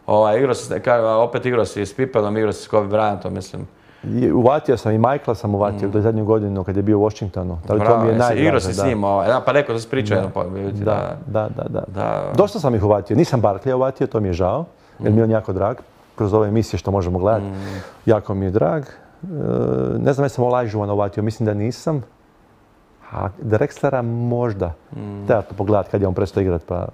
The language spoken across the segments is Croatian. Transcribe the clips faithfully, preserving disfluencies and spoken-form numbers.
Ovaj, igrao si, opet igrao si s Pipelom, igrao si s Kobe Bryantom, mislim. Uvatio sam i Michaela sam uvatio, to je zadnju godinu kad je bio u Washingtonu. To mi je najdraže. Igrao si s njim, pa rekao da si pričao jedno pobiti. Da, da, da. Dosta sam ih uvatio. Nisam Barkleya uvatio, to mi je žao, jer mi je on jako drag. Kroz ove emisije što možemo gledati, jako mi je drag. Ne znam, jesam Olajuwona uvatio, mislim da nisam. A Drexlera možda. Treba to pogledati kad je on prestao igrati, pa...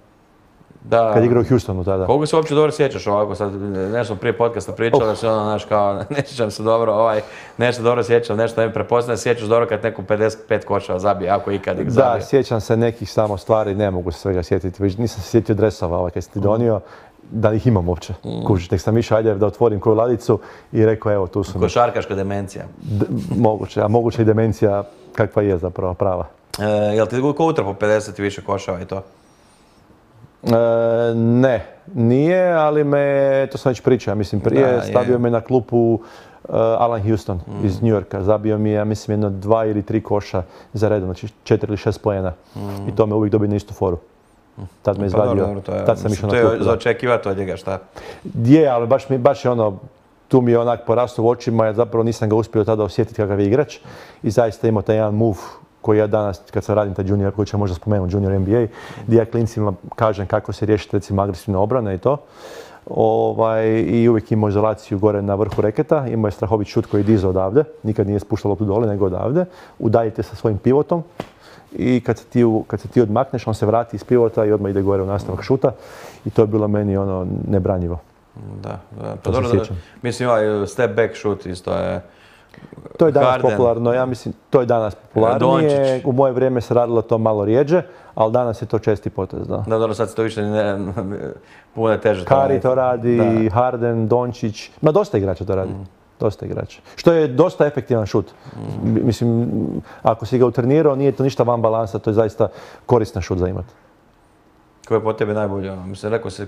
Da. Kad je igrao u Houstonu tada. Koliko se uopće dobro sjećaš ovako, sad nešto prije podcasta pričali, da se ono, znaš, kao, ne sjećam se dobro, ovaj, nešto dobro sjećam, nešto ne mi prepoznajem, sjećaš dobro kad neko pedeset pet koševa zabije, ako ikad ih zabije. Da, sjećam se nekih samo stvari, ne mogu se svega sjetiti, već nisam se sjetio dresova, ovaj, kad si ti donio, da ih imam uopće. Mm. Kužiš, nek sam išao, ajde da otvorim koju ladicu i rekao, evo, tu su mi. Košarkaška demencija. D moguće, a moguće i demencija kakva je zapravo prava. E, jel ti ko utrpo pedeset i više koševa i to? E, ne, nije, ali me, to sam već pričao, mislim, prije da, stavio je. me na klupu uh, Alan Houston mm. iz New Yorka. Zabio mi je, ja mislim, jedno dva ili tri koša za redom, znači četiri ili šest poena. Mm. I to me uvijek dobio na istu foru. Tad me izvadio, pa, dobro, je, tad sam išao na klupu. To je za očekivati od njega, šta? Je, ali baš, mi, baš je ono, tu mi je onak porastao u očima, ja zapravo nisam ga uspio tada osjetiti kakav je igrač. I zaista imao taj jedan move koji ja danas, kad sam radim taj junior, koji će možda spomenuti, junior N B A, gdje ja klincima kažem kako se riješiti recimo agresivna obrana i to. Ovaj, I uvijek imao izolaciju gore na vrhu reketa, imao je strahovit šut koji je dizao odavde, nikad nije spuštalo tu dole nego odavde. Udaljite sa svojim pivotom i kad se, ti, kad se ti odmakneš, on se vrati iz pivota i odmah ide gore u nastavak šuta. I to je bilo meni ono nebranjivo. Da, da. Pa dobro, da, mislim ovaj step back šut isto je... To je danas Harden. popularno, ja mislim, to je danas popularnije. Dončić. U moje vrijeme se radilo to malo rijeđe, ali danas je to česti potez, da. Da, dobro, sad se to više ne, puno teže. Curry to radi, da. Harden, Dončić, ma dosta igrača to radi. Mm. Dosta igrača. Što je dosta efektivan šut. Mm. Mislim, ako si ga utrenirao, nije to ništa van balansa, to je zaista koristan šut za imati. Ko je po tebi najbolji? Mislim, rekao se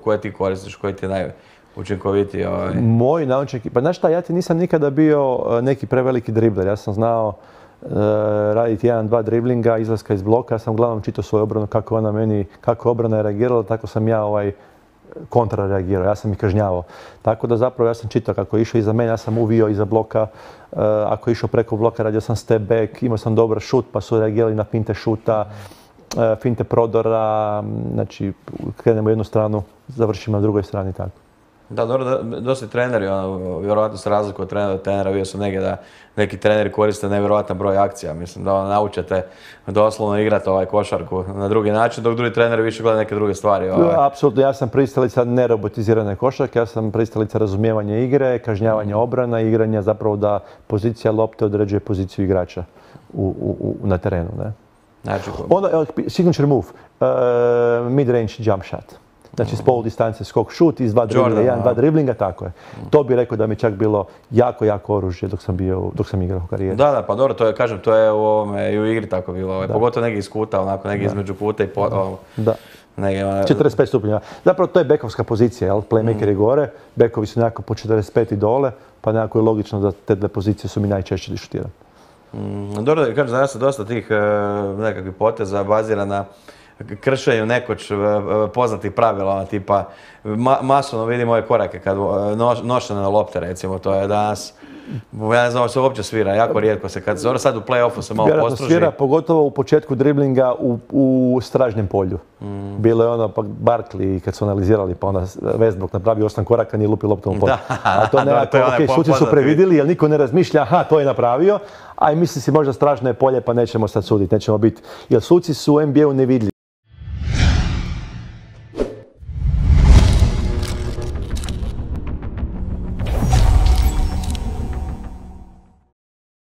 koje ti koristiš, koji ti je naj... učinkoviti ovaj... Moj naučnik, pa znaš šta, ja ti nisam nikada bio neki preveliki dribler. Ja sam znao uh, raditi jedan, dva driblinga, izlaska iz bloka. Ja sam uglavnom čitao svoju obranu, kako ona meni, kako obrana je reagirala, tako sam ja ovaj kontra reagirao. Ja sam ih kažnjavao. Tako da zapravo ja sam čitao kako je išao iza mene, ja sam uvio iza bloka. Uh, ako je išao preko bloka, radio sam step back, imao sam dobar šut, pa su reagirali na finte šuta, uh, finte prodora. Znači, krenemo jednu stranu, završimo na drugoj strani, tako. Da, dobro, dosta treneri, ono, vjerovatno se razliku od trenera do trenera, vidio sam negdje da neki treneri koriste nevjerojatan broj akcija, mislim da ono, naučete doslovno igrati ovaj košarku na drugi način, dok drugi treneri više gledaju neke druge stvari. Ovaj. Ja, apsolutno, ja sam pristalica nerobotizirane košarke, ja sam pristalica razumijevanja igre, kažnjavanja obrana, igranja zapravo da pozicija lopte određuje poziciju igrača u, u, u, na terenu. Ne? Znači, Onda, signature move, uh, mid-range jump shot. Znači s pol distance skok šut iz dva driblinga, jedan, dva driblinga, tako je. To bi rekao da mi čak bilo jako, jako oružje dok sam bio, dok sam igrao u karijeri. Da, da, pa dobro, to je, kažem, to je u ovome i u igri tako bilo, ovaj, pogotovo negdje iz kuta, onako negdje između puta i po, ovo, da. Negdje, ono... četrdeset pet stupnja. Zapravo to je bekovska pozicija, jel? Playmaker mm. je gore, bekovi su nekako po četrdeset pet i dole, pa nekako je logično da te dve pozicije su mi najčešće di šutiram. Mm, dobro, kažem, danas se dosta tih uh, nekakvih poteza bazira na kršenju nekoć poznatih pravila, tipa ma, masovno vidimo ove korake kad noš, nošene na lopte, recimo, to je danas, ja ne znam, se uopće svira, jako rijetko se, kad se sad u play-offu se malo Vjerojatno postruži. Svira, pogotovo u početku driblinga u, u stražnjem polju. Mm. Bilo je ono, pa Barkley, kad su analizirali, pa onda Westbrook napravio osam koraka, nije lupi loptom u polju. A to nekako, ok, suci su previdjeli, jer niko ne razmišlja, aha, to je napravio, a i misli si možda stražno je polje, pa nećemo sad suditi, nećemo biti, jer suci su u N B A-u nevidljivi.